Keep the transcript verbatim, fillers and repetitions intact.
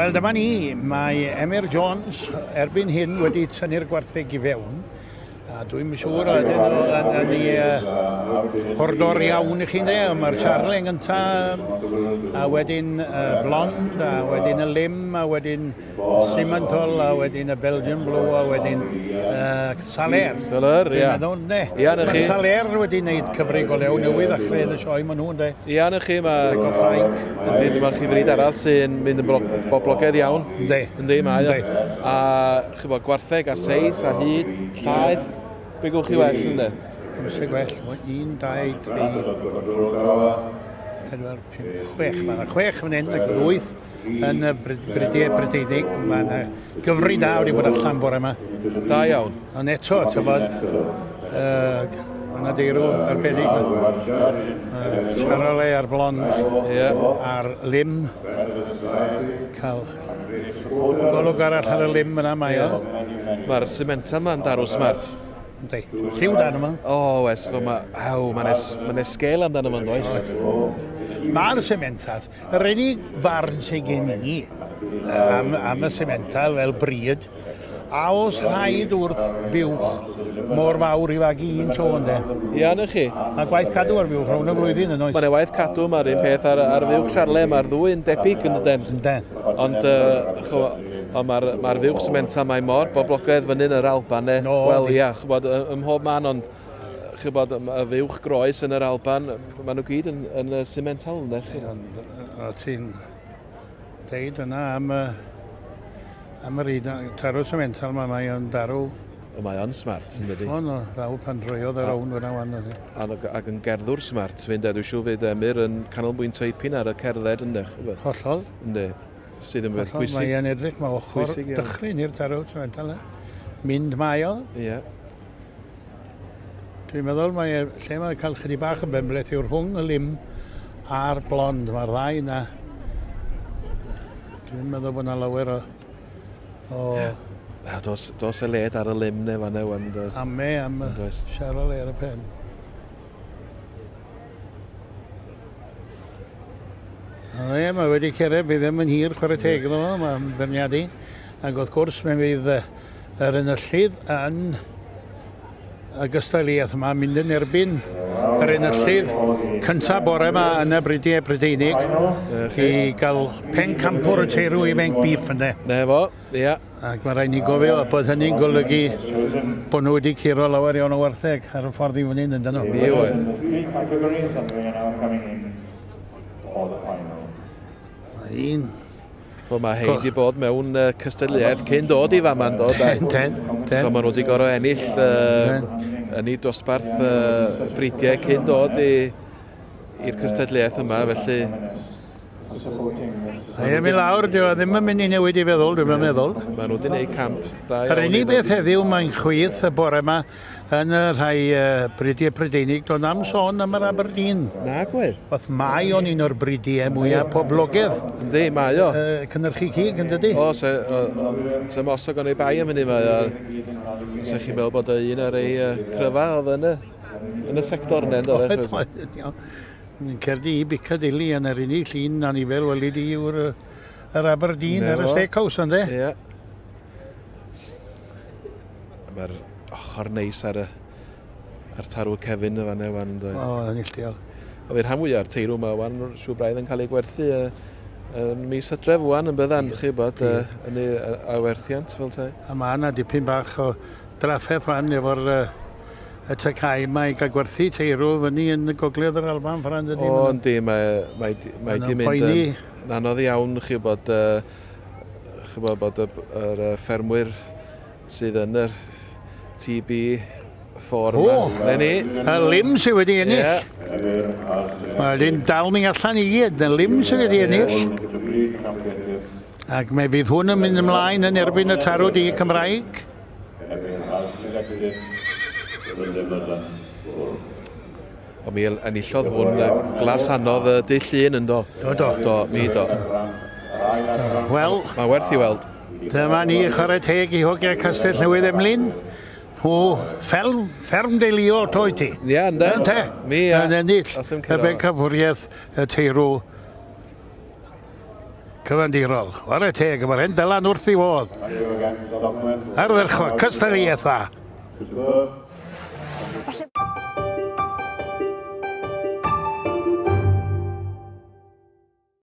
Wel, dyma ni. Mae Emyr Jones erbyn hyn wedi tynnu'r gwartheg i fewn. A dwi'n siŵr ydyn nhw yn, yn ei uh, hordor iawn i chi, de. Mae'r Charlie yn gyntaf, a wedyn uh, Blond, a wedyn y Lim, a wedyn Simmental, a wedyn y Belgian Blue, a wedyn uh, Saler. Saler, ia. Dwi'n meddwl, ne. Ia, na chi. Mae Saler wedi gwneud cyfri go lew newydd a chreu yn y sioe maen nhw'n de. Ia, na chi, mae... O Ffrainc. Yndi, dyma chi fryd arall sy'n mynd yn boblogaidd iawn. Yndi. Yndi, mae o. A, chybod, gwartheg a seis a hyd, llaeth. Be gwch chi well, ynddo? Amser gwell, un, dau, tri, pedwar, pump, chwech. Mae yna chwech fan hyn, ac wyth yn y Brydiau Brydeinig. Mae yna gyfri da wedi bod allan bore yma. Da iawn. Ond eto, tybod, uh, mae yna deirw arbennig. Uh, Charolais a'r Blond, yeah. A'r Lim. Cael golwg arall ar y Lim yna, mae o. Mae'r Simmental yma'n darw smart. Yndi. Lliw dan yma. O, oes, mae'n ma esgel amdano fo'n does. Mae'r Simmental, yr unig farn sydd gen i am, am y Simmental fel bryd, a os rhaid wrth buwch mor fawr i fagu un tro, ynddo. Ia, na chi. Mae gwaith cadw ar fuwch rownd y flwyddyn yn oes. Mae'n waith cadw, mae'r un peth ar, ar fuwch Charlie, mae'r ddwy'n debyg yn dydyn. Yndyn. Ond, uh, ond mae'r ma fuwch Simmental, mae mor boblogaidd fyny yn yr Alban, ne? No, Wel, ia, chybod, ym mhob man, ond chybod, y fuwch groes yn yr Alban, maen nhw gyd yn, yn y Simmental, ynddo? Ond, o ti'n deud yna am y... Am yr un tarw Simmental yma, mae o'n darw... Mae o'n smart, yn dydi? Uffon o fawr pan droiodd yr own fyna wan, ydy. Ac yn gerddwr smart, fynd, dwi'n siŵr fydd Emyr yn canolbwyntio ipyn ar y cerdded, ynddo? Hollol. Ynddi, sydd yn beth pwysig. Mae o'n edrych, mae ochr dychryn i'r tarw Simmental. Mynd mae o. Ie. Dwi'n meddwl, mae, lle mae'n cael chydig bach o benbleth yw'r rhwng y Lim a'r Blond. Mae'r ddau yna. Dwi'n meddwl bod yna lawer o... O... Yeah. Dos, dos y led ar y Lim neu fan ewan. Ame am y Charolais ar y pen. O ie, mae wedi cerdded, fydd ddim yn hir chwarae teg iddo fo, mae'n beirniadu. Ac wrth gwrs, mae fydd yr enillydd yn y gystadleuaeth yma mynd yn erbyn yr enillydd cyntaf bore yma yn y Brydiau Brydeinig i gael pencampwr y teirw ifanc beef ynddo. Ne fo, ia. Ac mae rhaid ni gofio bod hynny'n golygu bod nhw wedi curo lawer iawn o wartheg ar y ffordd i fyny yn dyn nhw. Mi oedd. Mae un. Wel, mae hein wedi bod mewn uh, cystadleuaeth cyn dod i fama yn dod. Ten, ten. So, maen nhw wedi gorfod ennill uh, yn ei dosbarth uh, bridiau cyn dod i'r cystadleuaeth yma, felly... Ie, mi lawr, dyw e ddim yn mynd i newid i feddwl, dwi'n meddwl. Maen nhw wedi gwneud camp da iawn. Yr unig beth heddiw mae'n chwith y bore yma yn y rhai uh, bridiau Prydeinig, do'n am sôn am yr Aberdeen. Na, gwedd. Oedd mae o'n un o'r bridiau mwyaf poblogaidd. Yndi, mae o. Uh, cynhyrchu cig, yn dydi? O, se, o, o, se mosog o'n ei bai am hynny, mae o. Se chi'n meddwl bod o un ar ei uh, cryfa oedd yn y, yn y sector yna, ynddo? Oedd, oedd, iawn. Yn cerddi i Piccadilly yn yr unig llun anifel weli di yw'r yr Aberdeen ar y Steakhouse, ynddo? Ie. Mae'r ochr neis ar y ar tarw Kevin y fan ewan, ynddo? O, yn illtiol. A fi'r rhan fwyaf o'r teirw yma, wan, siŵr braidd yn cael ei gwerthu yn mis Hydref wan yn byddan, chi bod, yn ei awerthiant fel te. A mae yna dipyn bach o drafferth wan efo'r y tacau yma i gael gwerthu teirw fyny yn y gogledd yr Alban, Fran, dydy? O, yndi, mae, mae, mae di mynd yn, yn anodd iawn, chi bod, chi bod, bod y, yr ffermwyr sydd yn yr T B four yma. O, Ne ni. Y Lim sydd wedi ennill. Yeah. Mae wedi'n dal ni allan i gyd, y Lim sydd wedi ennill. Ac mae fydd hwn yn mynd ymlaen yn erbyn y tarw du Cymraeg. O, mi enillodd hwn glas anodd y dydd Llun yn do. Do, do. Do, mi do. Wel, mae werth i weld. Dyma ni chwarae teg i hogiau Castell Newydd Emlyn. Nhw fferm, fferm deuluol to i ti. Ie, ynde. Ynte. Mi, ia. Yn ennill y bencampwriaeth y teirw Cyfandirol. Whare teg, mae'r hen Dylan wrth ei fodd. Ardderchog, cystadleuaeth dda.